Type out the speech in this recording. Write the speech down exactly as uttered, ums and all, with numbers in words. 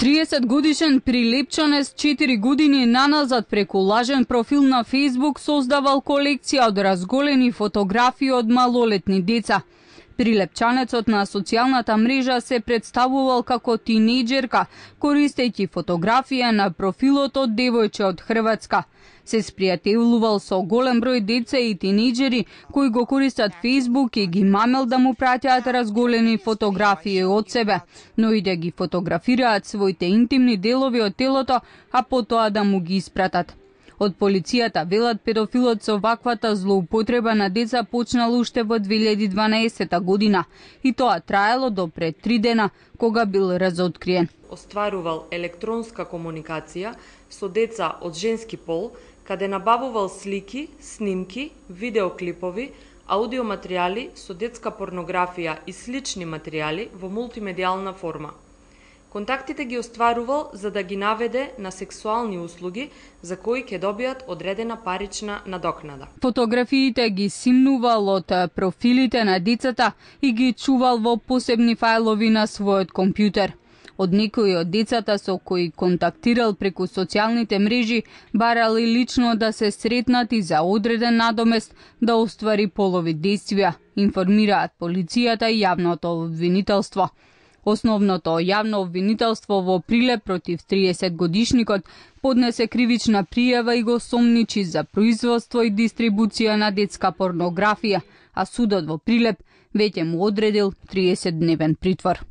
триесет годишен Прилепчанец четири години наназад преку лажен профил на Facebook создавал колекција од разголени фотографии од малолетни деца. Прилепчанецот на социјалната мрежа се представувал како тинејџерка, користејќи фотографија на профилот од девојче од Хрватска. Се спријателувал со голем број деца и тинејџери кои го користат Facebook и ги мамел да му праќаат разголени фотографии од себе, но и да ги фотографираат своите интимни делови од телото, а потоа да му ги испратат. Од полицијата велат педофилот со ваквата злоупотреба на деца почнал уште во две илјади и дванаесета година и тоа траело до пред три дена кога бил разоткриен. Остварувал електронска комуникација со деца од женски пол, каде набавувал слики, снимки, видеоклипови, аудиоматеријали со детска порнографија и слични материјали во мултимедијална форма. Контактите ги остварувал за да ги наведе на сексуални услуги за кои ќе добијат одредена парична надокнада. Фотографиите ги симнувал од профилите на децата и ги чувал во посебни фајлови на својот компјутер. Од некои од децата со кои контактирал преку социјалните мрежи барал и лично да се сретнат и за одреден надомест да оствари полови действија, информираат полицијата и јавното обвинителство. Основното јавно обвинителство во Прилеп против триесет годишникот поднесе кривична пријава и го сомничи за производство и дистрибуција на детска порнографија, а судот во Прилеп веќе му одредил триесет дневен притвор.